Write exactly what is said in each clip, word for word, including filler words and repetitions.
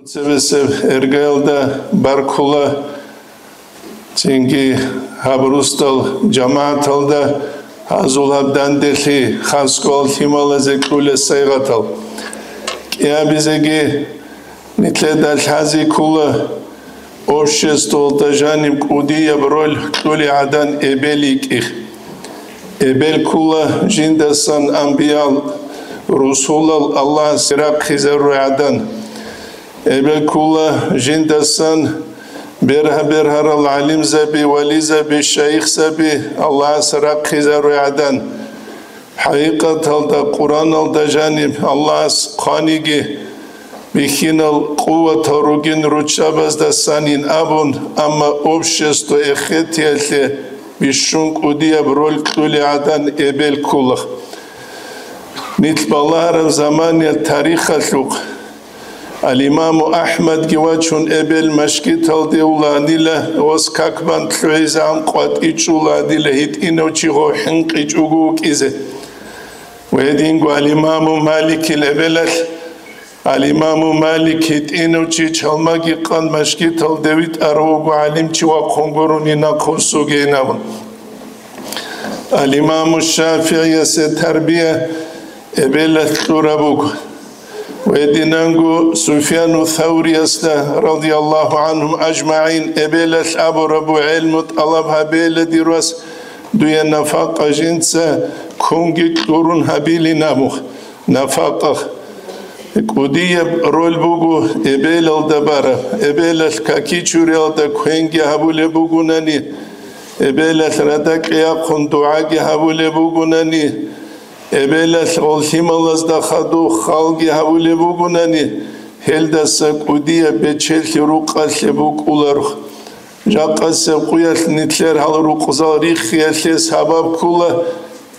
Цебесеб эргаялда баркула, цинги гьаб русдал жамагӀаталда гьазул гьаб данделъи хасго лъималазе кьулел сайгъатал. КӀиабизеги нилъеда лъази ккула обществоялда жаниб кӀудияб роль кьули гӀадан эбел йикӀи. Эбел ккула жиндасан анбиял, русулал Аллагьасе рахъизаруй гӀадан. Эбел ккула жиндасан бергьа-бергьарал гӀалимзаби, вализаби, шайихзаби Аллагьасе рахъизаруй гӀадан. ХӀакъикъаталда Къуръаналда жаниб Аллагьас хъваниги бихьинал къуватал ругин руччабаздасанин абун, амма общество эхетиялъе бищун кӀудияб роль кьули гӀадан эбел ккула. Нилъ балагьараб заманиялъ тарихалъухъ Ал-Имаму АхӀмадги вачун эбел машгиталде вулагьанила, ос как бан лъугӀизегӀан къватӀичӀулагьанила гьитӀинав чи гъов хӀинкъичӀого вукӀизе. Ва гьединго Ал-Имаму Маликил эбелалъ, Ал-Имаму Малик гьитӀинав чи чалмаги къан машгиталде витӀарав вуго гӀалимчи вахъун гурони нахъвуссугейин абун. Ал-Имаму ШафигӀиясе тарбия эбелалъ кьураб буго. Гьединанго Суфьяну Савриясда, радияллагьу гӀанхум ажмагӀин, эбелалъ абураб буго: «ГӀелму тӀалаб гьабейла, дир вас, дуе нафакъа жинца кунги кьурун гьабилин», абун. Нафакъа. КӀудияб роль буго эбелалда бараб. Эбелалъ какичуриялда квенги гьабулеб бугунани, эбелалъ радакье яхъун дугӀаги гьабулеб бугунани, эбелалъ гъол лъималазда хадуб халги гьабулеб бугунани, гьелдаса кӀудияб бечелъи рукъалъе букӀуларо. Жакъасеб къуялъ нилъер гьал рукъзал риххиялъе сабаб ккула,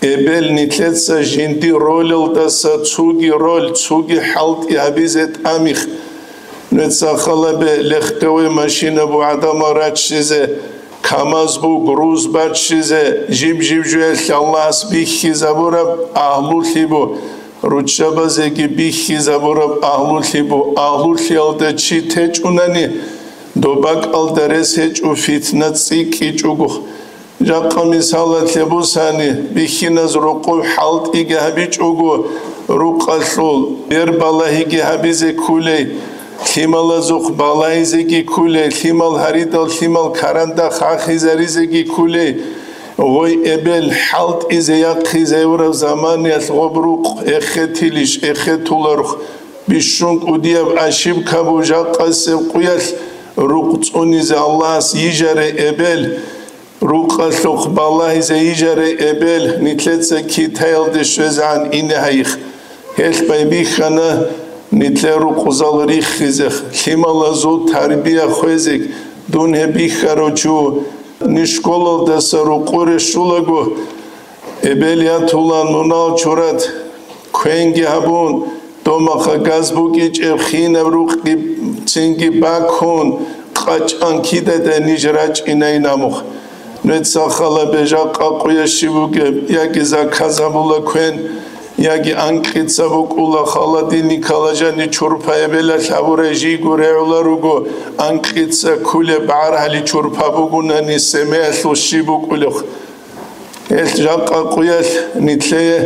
эбел нилъеца жиндир ролалдаса цуги роль, цуги хӀалтӀи гьабизе тӀамих. Нуца халабе легковой машина бу гӀадамал раччизе, КамАЗ бу груз баччизе, жиб-жиб жуялъ Аллагьас бихьизабураб агьлулъи бу, руччабазеги бихьизабураб агьлулъи бу, агьлулъиялда чи течӀунани, доб бакӀалда рес гьечӀо, фитна цӀикӀкӀичӀого. Жакъа мисалалъе бусани, бихьиназ рукъуб хӀалтӀиги гьабичӀого, рукъалъул бер балагьиги гьабизе ккулей, лъималазухъ балагьизеги ккулей, лъимал гьаридал лъимал каранда хахизаризеги ккулей, гъой эбел хӀалтӀизе яхъизайураб заманиялъ гъоб рукъ эхетилищ, эхетуларухъ, бищун кӀудияб ошибка бу жакъасеб къуялъ рукъ цӀунизе Аллагьас йижарай эбел, рукъалъухъ балагьизе йижарай эбел, нилъеца Китаялде щвезегӀан ине гьайихъ. Гьелъ байбихьана нилъер рукъзал риххизе, лъималазул тарбия хвезе, дун гьеб бихьарав чи ву. Ниж школалдаса рукъуре щулаго, эбел ятулан мунал чурат, квенги гьабун, домаха газ букӀичӀеб хинаб рукъги цинги бакун, къачӀан кидадай ниж рачӀинай намух. Нуца халабе жакъа къуя щиб бугеб, яги заказ гьабула квен, яги анкьица букӀула, холодильникалда жаниб чурпа эбелалъ гьабурай жийго регӀула руго, анкьица ккулеб гӀаргьали чурпа бугунани семеялъул щиб букӀулев. Гьелъ жакъа къуялъ нилъее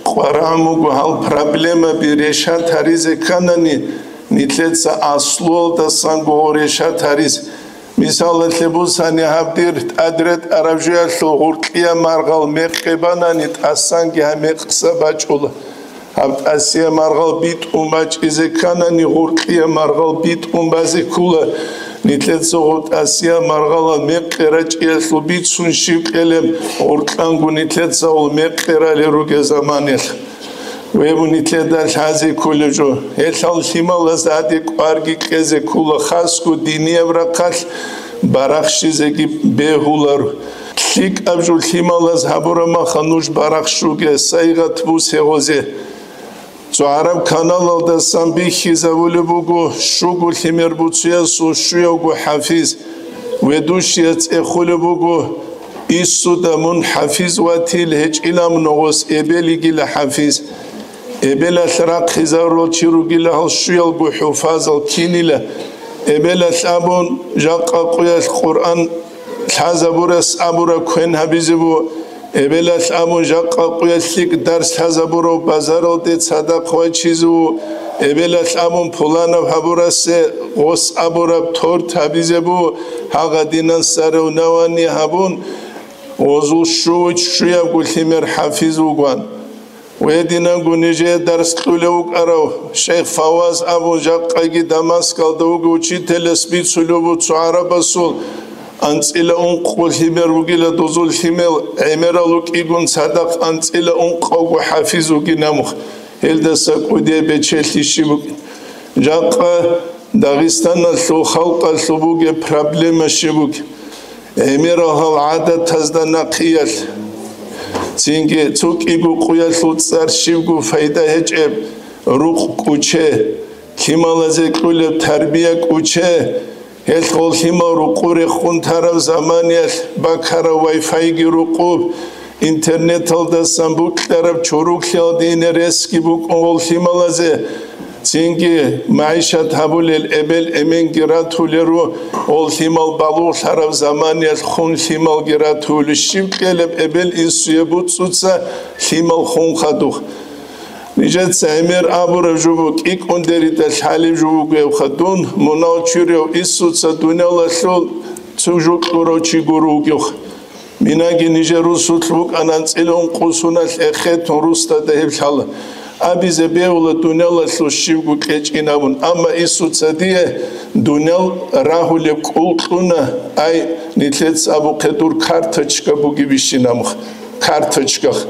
къварагӀун буго гьал проблемаби решат гьаризе кканани, нилъеца аслуялдасанго гъо решат гьарис. Мисалалъе бусани, гьаб дир тӀад ретӀараб жуялъул гъуркьияб маргъал мекъи банани, тӀасанги гьаб мекъса бачӀула. Гьаб тӀасияб маргъал битӀун бачӀизе кканани, гъуркьияб маргъал битӀун базе ккула. Нилъеца гъоб тӀасияб маргъалал мекъи рачӀиялъул бицун щиб кьелеб, гъуркьанго нилъеца гъол мекъи рали ругеб заманалъ. Веб нилъеда лъазе кколеб жо. Гьелъал лъималаз гьаде кӀварги кьезе ккула, хасго динияб рахъалъ барахщизеги бегьулар. ЛъикӀаб жо лъималаз гьабураб маха нуж барахщуге, сайгъат бусе гъозе. Цо гӀараб каналалдасан бихьизабулеб буго, щуго лъимер буцуясул щуявго хӀафиз. Ведущияс цӀехулеб буго, иссуда мун хӀафиз ватил гьечӀилан, ногъос эбел йигила хӀафиз. Эбелалъ рахъизарурал чи ругила гьал щуялго хӀуфазал кинила. Эбелалъ абун, жакъа къуялъ Къуръан лъазабурас абураб квен гьабизе бу. Эбелалъ абун, жакъа къуялъ лъикӀ дарс лъазабурав базаралде цадахъ вачизе ву. Эбелалъ абун, пуланав гьабурасе гъос абураб торт гьабизе бу. Гьагъадинан сарав навани гьабун, гъозул щу-, щуябго лъимер хӀафиз вугван. Гьединанго нижее дарс кьулев вукӀарав шейх Фаваз абун, жакъаги Дамаскалда вугев учителас бицулев вуго цо гӀарабасул анцӀила ункъо лъимер вугила дозул лъимел гӀемерал вукӀигун цадахъ анцӀила ункъавго хӀафиз вугин амухъ, гьелдаса кӀудияб бечелъи щиб букӀин. Жакъа Дагъистаналъул халкъалъул бугеб проблема щиб бугеб? ГӀемерал гьал гӀадатазда нахъиялъ, цинги цо кӀиго къуялъул цӀар щибго пайда гьечӀеб, рукъ кӀуче, лъималазе кьулеб тарбия кӀуче, гьелъ гъол лъимал рукъу рехун тараб заманиялъ бакарав вай-файги рукъуб, интернеталдасан букьараб чоруклъиялде ине ресги букӀун гъол лъималазе, цинги магӀишат гьабулел эбел-эменги ратулел ру, гъол лъимал балугълъараб заманиялъ хун лъималги ратулел, щиб кьелеб эбел-инсуе буцӀуца лъимал хун хадуб. Нижеца гӀемер абураб жо буго, кӀикӀкӀундерида лъалеб жо бугебха дун, мунагь чурав инсуца дуниялалъул цо жо кьурав чи гуро вугевха. Минаги нижер русулъ букӀана анцӀила ункъо суналъ эхетун русдада гьеб лъала. Абизе бегьула дуниялалъул щибго кьечӀин абун, амма инсуца дие дуниял рагьулеб кӀул кьуна, ай, нилъеца абухъе дур карточка бугебищин амухъ, карточках.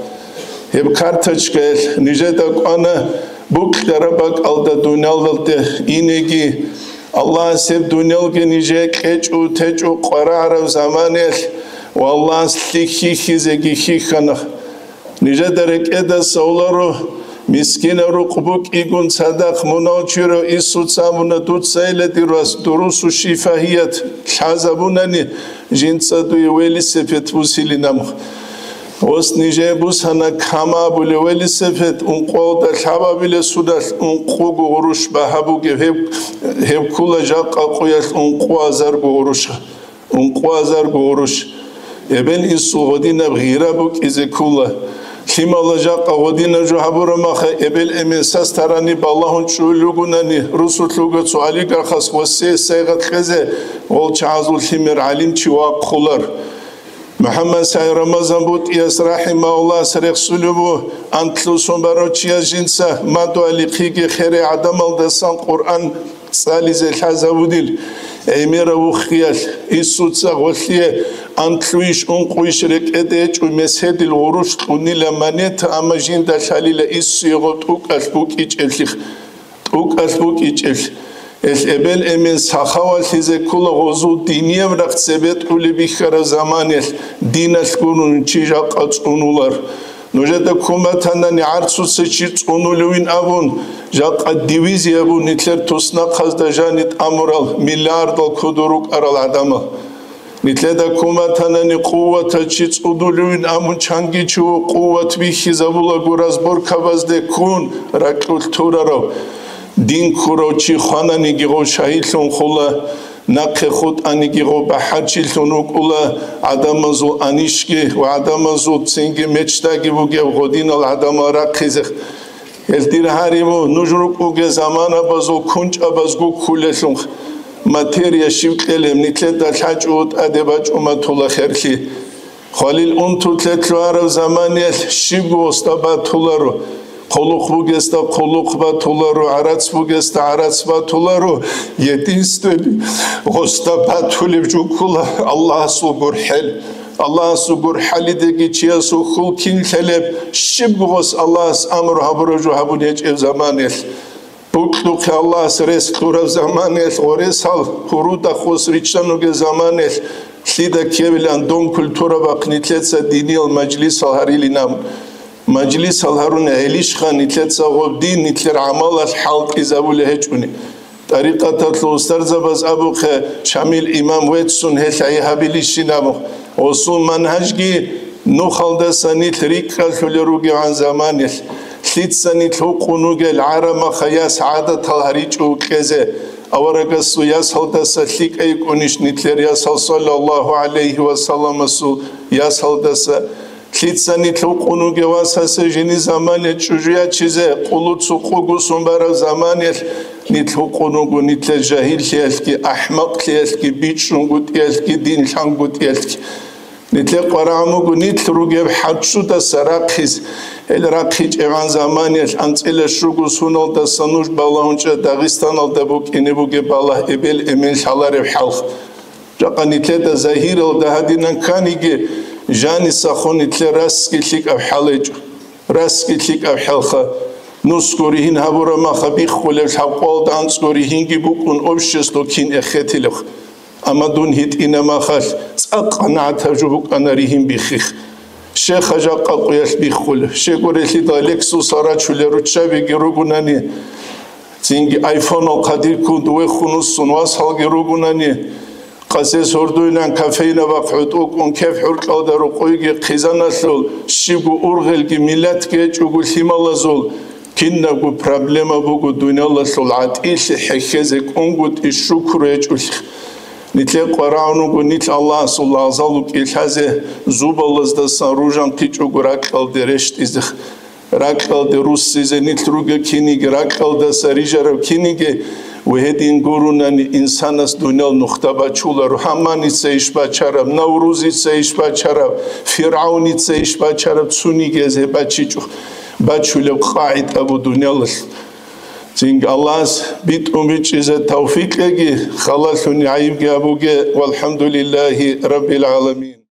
Гьеб карточкаялъ нижеда кӀвана букьараб бакӀалда дуниялалде инеги, Аллагьас гьеб дуниялги нижее кьечӀо-течӀо къварагӀараб заманиялъ ва Аллагьас лъихьихьизеги хьихьана. Нижеда рекӀеда совларо, мискинаб рукъ букӀигун цадахъ мунагь чурав инсуца абуна, дуцайила дир вас дурусу шифагьият лъазабунани, жинца дуе велосипед бусилин амухъ. Гъос нижее бусана кама абулев велосипед, ункъоялда лъабабилесудалъ ункъого гъурущ багьа бугеб, гьеб, гьеб ккула жакъа къуялъ ункъо азарго гъурущ, ункъо азарго гъурущ. Эбел-инсул гъодинаб гъира букӀизе ккула. Лъимала жакъа гъодинаб жо гьабураб маха, эбел-эмен сас тарани балагьун чӀул ругунани, русулъ вуго цо олигархас гъосе сайгъат кьезе, гъол чагӀазул лъимер гӀалимчи вахъулар. МухӀаммад СагӀид Рамазан БутӀияс рахӀимагьуллагьас рехсулев ву, антлъусон барав чияс жинца мадугьалихъиги херай гӀадамалдасан Къуръан цӀализе лъазавудил гӀемерав вухиялъ, инсуца гъолъие антлъуйищ, ункъуйищ рекӀеде гьечӀо, меседил гъурущ кьунила монета, амма жинда лъалила инсуе гъо тӀукӀалъ букӀичӀелъи. ТӀукӀалъ букӀичӀелъ, гьелъ эбел-эмен сахавалъизе ккула гъозул динияб рахъ цебетӀулеб бихьараб заманиялъ, диналъ гурун чи жакъа цӀунулар. Нужеда ккун батанани гӀарцуца чи цӀунулевин абун, жакъа дивизия бу нилъер туснахъазда жани тӀамурал, миллиардал кодор рукӀарал гӀадамал. Нилъеда ккун батанани къуватал чи цӀудулевин абун, чанги чи къуват бихьизабулаго разборкабазде ккун ракьулъ турарав, дин ккурав чи хвананиги гъов шагьидлъун хула, нахъе хутӀаниги гъов бахӀарчилъун вукӀула, гӀадамазул анищги ва гӀадамазул цинги мечтаги бугеб гъодинал гӀадамал рахъизе. Гьел дир гьариву, нуж рукӀуге заманабазул кунчӀабаз гуккулелъул материя щив кьелеб, нилъеда лъачӀо тӀаде бачӀуматула херлъи. Хвалил унтулъе лъугьараб заманиялъ щибго гъосда батуларо, хъулухъ бугесда хъулухъ батуларо, гӀарац бугесда гӀарац батуларо, единственный гъосда батулеб жуккула Аллагьасул гурхӀел. Аллагьасул гурхӀалидеги чиясул хьул кин лъелеб, щибго гъос Аллагьас амру гьабураб жо гьабун гьечӀеб заманиялъ. Букьухъе Аллагьас рес кьураб заманиялъ, гъоресал гьурудахъ гъос риччан ругеб заманиялъ, лъида ккевилан дон культура бахъ нилъеца диниял мажлисал гьарилин абун. Мажлисал гьарун гьелищха нилъеца гъоб дин нилъер гӀамалалъ хӀалтӀизабулеб гьечӀони. ТӀарикъаталъул устарзабаз абухъе, Шамил имам веццун гьелъ гьай гьабилищин абухъ. Гъосул манхӀажги нухалдаса нилъ рикӀкӀалъулел ругевгӀан заманиялъ. Лъица нилъ гьукъун вугел гӀарамаха яс гӀадатал гьаричӀо кьезе, аварагасул ясалдаса лъикӀай кӀунищ нилъер ясал саллаллагьу гӀалайгьи ва салламасул ясалдаса? Лъица нилъ гьукъун вугев васасе жини замане чӀужу ячизе, къулу цукъу гусун бараб заманиялъ нилъ гьукъун вуго нилъер жагьиллъиялъги, ахӀмакълъиялъги, бичӀчӀунгутӀиялъги, дин лъангутӀиялъги. Нилъер къварагӀун вуго нилъ ругеб хӀачудаса рахъиз, гьел рахъичӀебгӀан заманиялъ анцӀила щуго суналдаса нуж балагьунчӀа Дагъистаналда букӀине бугеб балагь эбел-эмен лъалареб хӀалха. Жакъа нилъеда загьиралда гьадинан кканиги, жанисахун нилъер расги лъикӀаб хӀалайчӀо. Расги лъикӀаб хӀалха, нусго ригьин гьабураб маха биххулеб лъабкъоялда анцӀго ригьинги букӀун общество кин эхетилебха. Амма дун гьитӀина махалъ цӀакъ къанагӀатаб жо букӀана ригьин биххих. Щеха жакъа къуялъ биххулеб, щегорелъидал Лексусал рачулел руччабиги ругунани, цинги айфонал хъадирккун дувехун уссун васалги ругунани, къасес гьордуйнан кофейнабахъ гӀутӀу кӀун кеп гӀуркьалда рукъуйги хъизаналъул, щибго ургъелги миллатги гьечӀого лъималазул, кинабго проблема буго дуниялалъул гӀатӀилъи хӀехьезе кӀунгутӀи шукру гьечӀолъи. Нилъер къварагӀун вуго нилъ Аллагьасул лагъзал вукӀин лъазе, зубалаздасан ружанхъичӀого ракьалде рещтӀизе. Ракьалде руссизе нилъ ругел киниги, ракьалдаса рижараб киниги, ва гьедин гурунани инсанас дуниял нухда бачуларо, гьаманица иш бачараб, Наврузица иш бачараб, ФиргӀавница иш бачараб, цунигияз гьеб бачичӀо, бачулеб къагӀида бу дуниялалъ. Цинги Аллагьас битӀун бичӀчӀизе тавфикъ кьеги, халалъуни гӀайибги гьабуге, валхӀамдулиллагьи раббил гӀаламин.